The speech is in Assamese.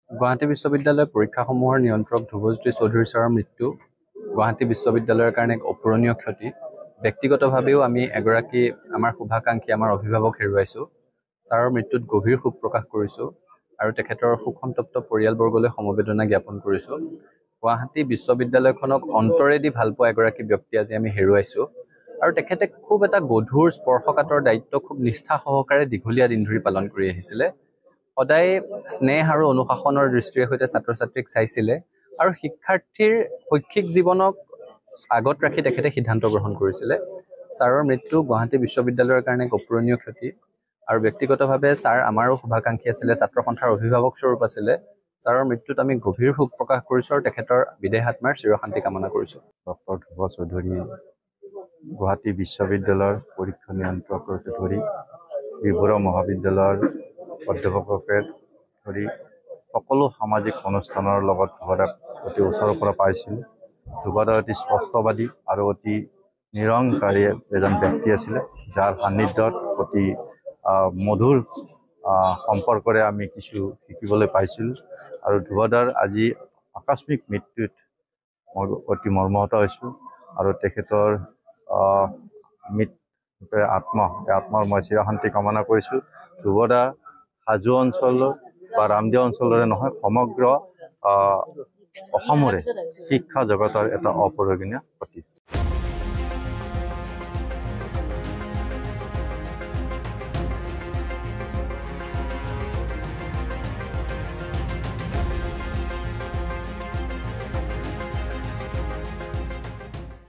গুৱাহাটী বিশ্ববিদ্যালয়ৰ পৰীক্ষাসমূহৰ নিয়ন্ত্ৰক ধ্ৰুৱজ্যোতি চৌধুৰী ছাৰৰ মৃত্যু গুৱাহাটী বিশ্ববিদ্যালয়ৰ কাৰণে এক অপূৰণীয় ক্ষতি। ব্যক্তিগতভাৱেও আমি এগৰাকী আমাৰ শুভাকাংক্ষী, আমাৰ অভিভাৱক হেৰুৱাইছোঁ। ছাৰৰ মৃত্যুত গভীৰ শোক প্ৰকাশ কৰিছোঁ আৰু তেখেতৰ শোকসন্তপ্ত পৰিয়ালবৰ্গলৈ সমবেদনা জ্ঞাপন কৰিছোঁ। গুৱাহাটী বিশ্ববিদ্যালয়খনক অন্তৰেদি ভালপোৱা এগৰাকী ব্যক্তি আজি আমি হেৰুৱাইছোঁ আৰু তেখেতে খুব এটা গধুৰ স্পৰ্শকাতৰ দায়িত্ব খুব নিষ্ঠা সহকাৰে দীঘলীয়া দিন ধৰি পালন কৰি আহিছিলে। সদায় স্নেহ আৰু অনুশাসনৰ দৃষ্টিৰে সৈতে ছাত্ৰ ছাত্ৰীক চাইছিলে আৰু শিক্ষাৰ্থীৰ শৈক্ষিক জীৱনক আগত ৰাখি তেখেতে সিদ্ধান্ত গ্ৰহণ কৰিছিলে। ছাৰৰ মৃত্যু গুৱাহাটী বিশ্ববিদ্যালয়ৰ কাৰণে এক অপূৰণীয় ক্ষতি আৰু ব্যক্তিগতভাৱে ছাৰ আমাৰো শুভাকাংক্ষী আছিলে, ছাত্ৰ সন্থাৰ অভিভাৱক স্বৰূপ আছিলে। ছাৰৰ মৃত্যুত আমি গভীৰ শোক প্ৰকাশ কৰিছোঁ আৰু তেখেতৰ বিদেহ আত্মাৰ চিৰশান্তি কামনা কৰিছোঁ। ডক্টৰ ধ্ৰুৱ চৌধুৰী গুৱাহাটী বিশ্ববিদ্যালয়ৰ পৰীক্ষা নিয়ন্ত্ৰককে ধৰি বি বৰুৱা মহাবিদ্যালয়ৰ অধ্যাপককে ধৰি সকলো সামাজিক অনুষ্ঠানৰ লগত ধ্ৰুৱদাক অতি ওচৰৰ পৰা পাইছিলোঁ। ধ্ৰুৱদা অতি স্পষ্টবাদী আৰু অতি নিৰংকাৰী এজন ব্যক্তি আছিলে, যাৰ সান্নিধ্যত অতি মধুৰ সম্পৰ্কৰে আমি কিছু শিকিবলৈ পাইছিলোঁ। আৰু ধ্ৰুৱদাৰ আজি আকস্মিক মৃত্যুত মই অতি মৰ্মাহত হৈছোঁ আৰু তেখেতৰ মৃত্যু আত্মা, এই আত্মাৰ মই চিৰশান্তি কামনা কৰিছোঁ। ধ্ৰুৱদা হাজো অঞ্চল বা ৰামদিয়া অঞ্চলৰে নহয়, সমগ্ৰ অসমৰে শিক্ষা জগতৰ এটা অপৰিগণীয় প্ৰতীক।